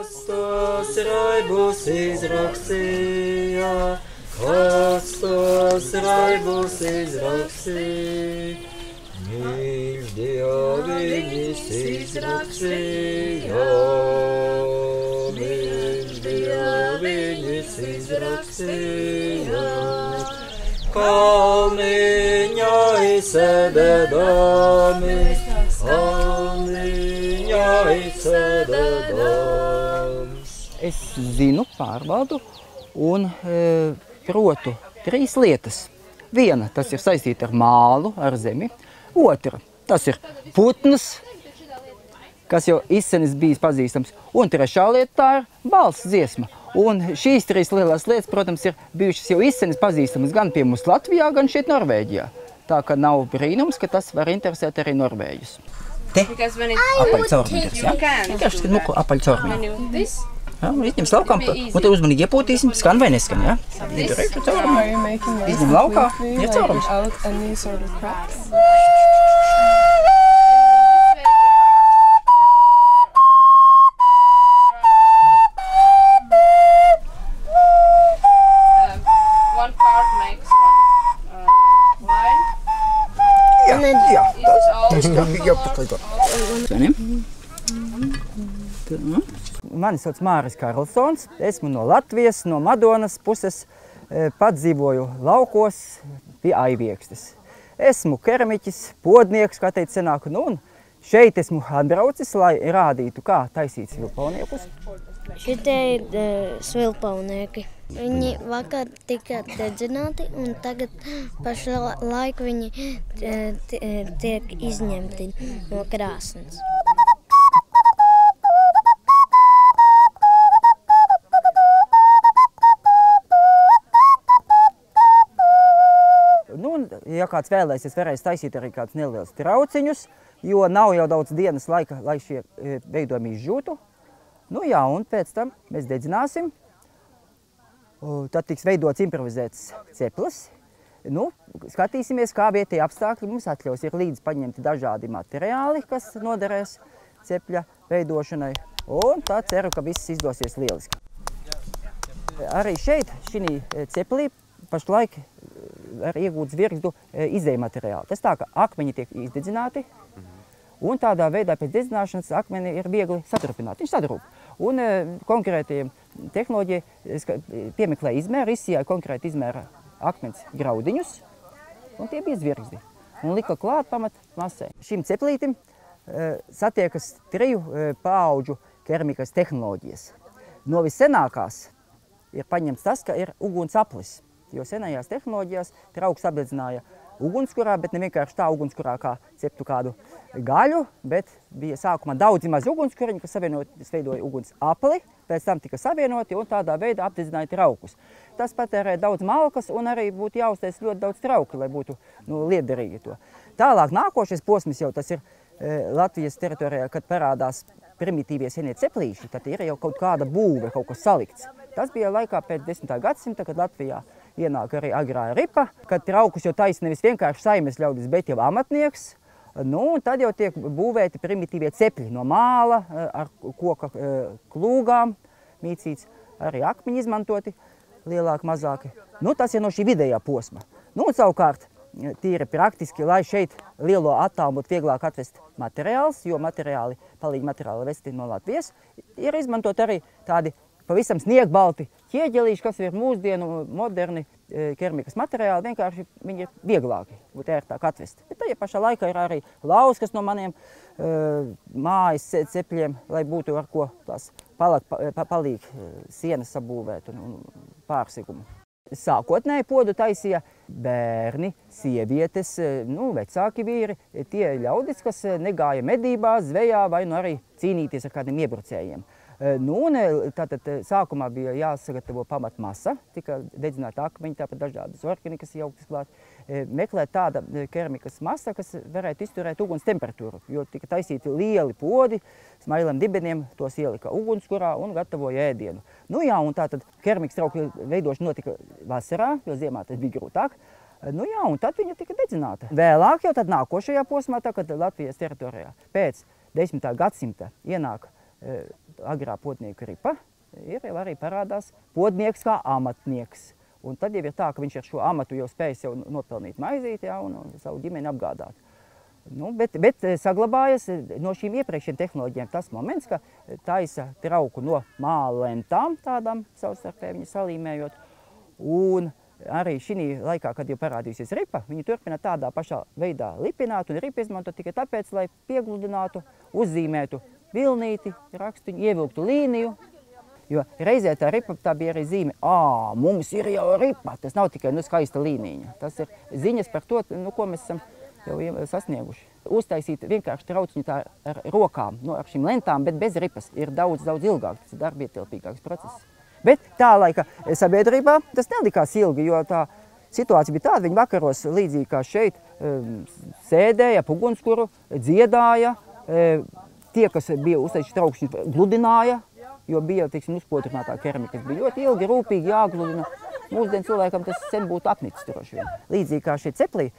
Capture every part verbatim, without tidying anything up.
Kas tos raibus izrakstīja, kas tos raibus izrakstīja, mīļš Dieviņš izrakstīja, mīļš Dieviņš izrakstīja, kalniņā izsēdēdami, kalniņā izsēdēdams. Es zinu, pārvaldu un e, protu trīs lietas. Viena, tas ir saistīta ar mālu, ar zemi. Otra, tas ir putns, kas jau izsenis bijis pazīstams. Un trešā lieta, tā ir balss dziesma. Un šīs trīs lielās lietas, protams, ir bijušas jau izsenis pazīstamas gan pie mums Latvijā, gan šeit Norvēģijā. Tā ka nav brīnums, ka tas var interesēt arī Norvēģus. Te apaļcaurumīters, jā? Vienkārši skat muku apaļcaurumī. Jā, un izņem laukām, un te uzmanīgi iepūtīsim, skan vai neskan, jā? Izdarēšu caurumu, izņem laukā, ir caurums. Jā, jā, tas ir jāpaklīdot. Mani sauc Māris Karlsons, esmu no Latvijas, no Madonas puses, pats dzīvoju laukos pie Aiviekstes. Esmu keramiķis, podnieks, kā teica senāk, nu un šeit esmu atbraucis, lai rādītu, kā taisīt svilpauniekus. Šitie ir uh, svilpaunieki. Viņi vakar tika dedzināti un tagad pašlaik viņi tiek izņemti no krāsnes. Ja kāds vēlēsies, varēs taisīt arī kādus nelielus trauciņus, jo nav jau daudz dienas laika, lai šie veidojumi izžūtu. Nu jā, un pēc tam mēs dedzināsim. Tad tiks veidots improvizēts ceplis. Nu, skatīsimies, kā vietēji apstākļi mums atļaus. Ir līdz paņemti dažādi materiāli, kas noderēs cepļa veidošanai. Un tā ceru, ka viss izdosies lieliski. Arī šeit, šī ceplī, pašlaik var iegūt zvirgzdu izēju materiālu. Tas tā, ka akmeņi tiek izdedzināti, un tādā veidā pēc dedzināšanas akmeni ir viegli satrupināt. Viņš sadrūp. Un konkrēti tehnoloģija piemeklē izmēru, izsijāja konkrēti izmēra akmens graudiņus, un tie bija zvirgzdi. Un lika klāt pamat masai. Šim ceplītim satiekas triju paauģu keramikas tehnoloģijas. No vissenākās ir paņemts tas, ka ir uguns aplis. Jo senajās tehnoloģijās trauks apdedzināja ugunskurā, bet ne vienkārši tā ugunskurā, kā ceptu kādu gaļu, bet bija sākumā daudzi mazi ugunskuriņi, kas savienoties veidoja uguns apli, pēc tam tika savienoti un tādā veidā apdedzināja traukus. Tas patērē daudz malkas un arī būtu jāuztais ļoti daudz trauki, lai būtu nu, liederīgi to. Tālāk nākošais posms jau tas ir e, Latvijas teritorijā, kad parādās primitīvie senie ceplīši, tad ir jau kaut kāda būve, kaut kas salikts. Tas bija laikā pēc desmitā gadsimta, kad Latvijā ienāk arī agrā ripa, kad traukus jau taisa nevis vienkārši saimes ļaudis, bet jau amatnieks. Nu, un tad jau tiek būvēti primitīvie cepļi no māla, ar koka klūgām, mīcīts, arī akmeņi izmantoti, lielāki, mazāki. Nu, tas ir no šī vidējā posma. Nu, un savukārt, tīri praktiski, lai šeit lielo attālumu būtu vieglāk atvest materiāls, jo materiāli, palīgi materiāli vesti no Latvijas, ir izmantot arī tādi pavisam sniegbalti ķieģelīši, kas ir mūsdienu moderni keramikas materiāli, vienkārši viņi ir vieglāki, būtu ērtāk atvest. Bet tajā pašā laikā ir arī lauskas no maniem uh, mājas cepļiem, lai būtu ar ko tās palāk, palīgi sienas sabūvēt un, un pārsigumu. Sākotnēji podu taisīja bērni, sievietes, nu, vecāki vīri, tie ļaudis, kas negāja medībās, zvejā vai nu arī cīnīties ar kādiem iebrucējiem. Nu, un tātad sākumā bija jāsagatavo pamatmasa, tika dedzināta akmeņi, tāpat dažādas orkini, kas jauktas klāt. Meklēt tāda keramikas masa, kas varētu izturēt uguns temperatūru, jo tika taisīti lieli podi, smailiem dibeniem, tos ielika ugunskurā un gatavoja ēdienu. Nu jā, un tātad keramikas trauku veidošana notika vasarā, jo ziemā tas bija grūtāk. Nu jā, un tad viņa tika dedzināta. Vēlāk jau tad nākošajā posmā, tā, kad Latvijas teritorijā pēc desmitā gadsimta ienāk agrā podnieku ripa, ir jau arī parādās podnieks kā amatnieks. Un tad jau ir tā, ka viņš ar šo amatu jau spēj sev nopelnīt maizīti, ja, un, un savu ģimeni apgādāt. Nu, bet, bet saglabājas no šīm iepriekšējiem tehnoloģijām tas moments, ka taisa trauku no māla lentām, tādām savstarpēji viņu salīmējot. Un arī šī laikā, kad jau parādījusies ripa, viņi turpina tādā pašā veidā lipināt un ripu izmantot tikai tāpēc, lai piegludinātu, uzzīmētu vilnīti, rakstiņu, ievilktu līniju. Jo reizē tā ripa tā bija arī zīme, ā, mums ir jau ripa, tas nav tikai nu, skaista līnija. Tas ir ziņas par to, nu, ko mēs esam jau sasnieguši. Uztaisīt vienkārši trauciņu tā ar rokām, nu, ar šīm lentām, bet bez ripas ir daudz, daudz ilgāk, tas ir darbietilpīgāks process. Bet tā laika sabiedrībā tas nelikās ilgi, jo tā situācija bija tāda, viņi vakaros līdzīgi kā šeit sēdēja, ap ugunskura, dziedāja, tie, kas bija uztaisījuši traukšņus, gludināja, jo bija, teiksim, uzpotrinātā keramika, kas bija ļoti ilgi, rūpīgi jāgludina. Mūsdien cilvēkam tas sen būtu apnicis droši vien. Līdzīgi kā šie ceplī,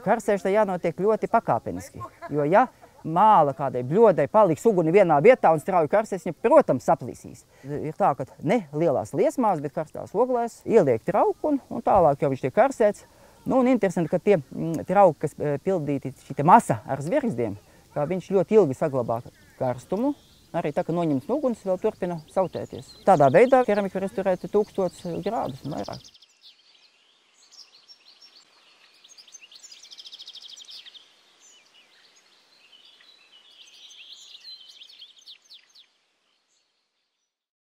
karsēšanai jānotiek ļoti pakāpeniski, jo ja māla kādai bļodai paliks uguni vienā vietā un strauji karsēs, viņa, protams, saplīsīs. Ir tā, ka ne lielās liesmās, bet karstās oglēs ieliek trauku un, un tālāk jau viņš tiek karsēts. Nu, un interesanti, ka tie trauki, kas pildīti šī masa ar zvirgzdiem, kā viņš ļoti ilgi saglabā karstumu, arī tā, ka noņemts uguns vēl turpina sautēties. Tādā veidā keramika var izturēt tūkstotis grādus un vairāk.